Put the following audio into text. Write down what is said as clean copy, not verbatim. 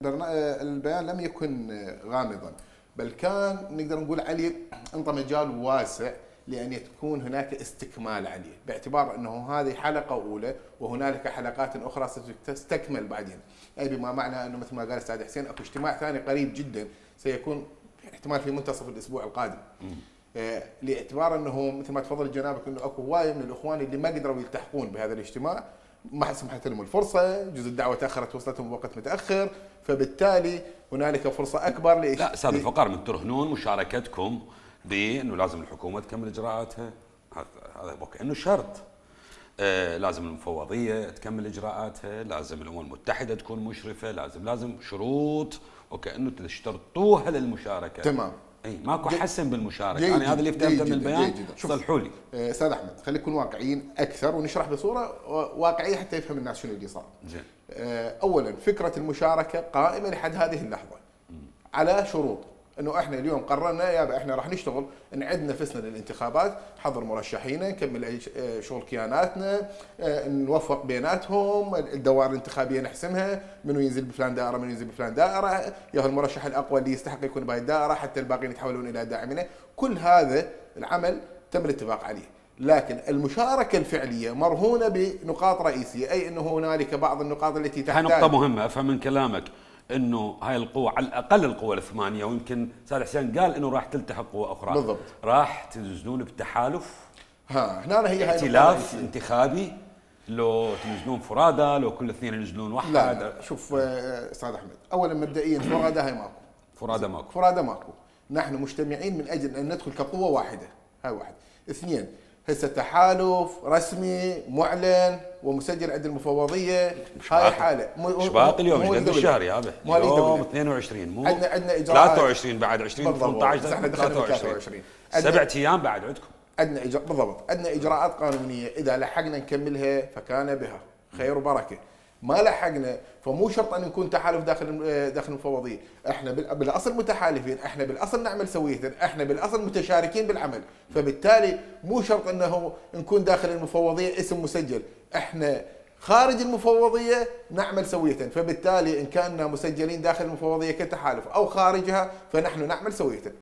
البيان لم يكن غامضا، بل كان نقدر نقول عليه انطى مجال واسع لان تكون هناك استكمال عليه، باعتبار انه هذه حلقه اولى وهنالك حلقات اخرى ستستكمل بعدين، اي بما معنى انه مثل ما قال الاستاذ حسين اكو اجتماع ثاني قريب جدا سيكون احتمال في منتصف الاسبوع القادم. لاعتبار انه مثل ما تفضل جنابك انه اكو هوايه من الاخوان اللي ما قدروا يلتحقون بهذا الاجتماع، ما سمحت لهم الفرصه، جزء الدعوه تاخرت وصلتهم بوقت متاخر، فبالتالي هنالك فرصه اكبر لا استاذ الفقار من ترهنون مشاركتكم بانه لازم الحكومه تكمل اجراءاتها، هذا كانه شرط. لازم المفوضيه تكمل اجراءاتها، لازم الامم المتحده تكون مشرفه، لازم شروط وكانه تشترطوها للمشاركه. تمام. اي ماكو حسن بالمشاركه، انا هذا اللي فهمته من البيان. صلحوا لي. استاذ احمد خلينا نكون واقعيين اكثر ونشرح بصوره واقعيه حتى يفهم الناس شنو اللي صار. زين. اولا فكره المشاركه قائمه لحد هذه اللحظه على شروط، انه احنا اليوم قررنا يابا احنا راح نشتغل نعد نفسنا للانتخابات، حضر مرشحينا، نكمل شغل كياناتنا، نوفق بيناتهم، الدوائر الانتخابيه نحسمها، منو ينزل بفلان دائره، منو ينزل بفلان دائره، يا المرشح الاقوى اللي يستحق يكون بهاي الدائره، حتى الباقيين يتحولون الى داعمين، كل هذا العمل تم الاتفاق عليه. لكن المشاركه الفعليه مرهونه بنقاط رئيسيه، اي انه هنالك بعض النقاط التي تحتاج. هاي نقطه مهمه افهم من كلامك، انه هاي القوة على الاقل القوى الثمانية، ويمكن استاذ حسين قال انه راح تلتحق قوة اخرى. بالضبط. راح تنزلون بتحالف؟ هنا هي ائتلاف انتخابي؟ لو تنزلون فرادى، لو كل اثنين ينزلون واحد؟ لا شوف استاذ احمد، اولا مبدئيا فرادى هاي ماكو. فرادى ماكو. نحن مجتمعين من اجل ان ندخل كقوة واحدة، هاي واحد. اثنين، هسه تحالف رسمي معلن ومسجل عند المفوضيه، هاي حاله مش باقي اليوم ايش قد الشهر يا ابي؟ اليوم 22 مو عندنا اجراءات 23 بعد 20 18 احنا دخلنا 23 7 ايام بعد عندكم. عندنا بالضبط، عندنا اجراءات قانونيه اذا لحقنا نكملها فكان بها خير وبركه، ما لحقنا فمو شرط ان نكون تحالف داخل المفوضيه، احنا بالاصل متحالفين، احنا بالاصل نعمل سويه، احنا بالاصل متشاركين بالعمل، فبالتالي مو شرط انه نكون داخل المفوضيه اسم مسجل، احنا خارج المفوضيه نعمل سويه، فبالتالي ان كنا مسجلين داخل المفوضيه كتحالف او خارجها فنحن نعمل سويه.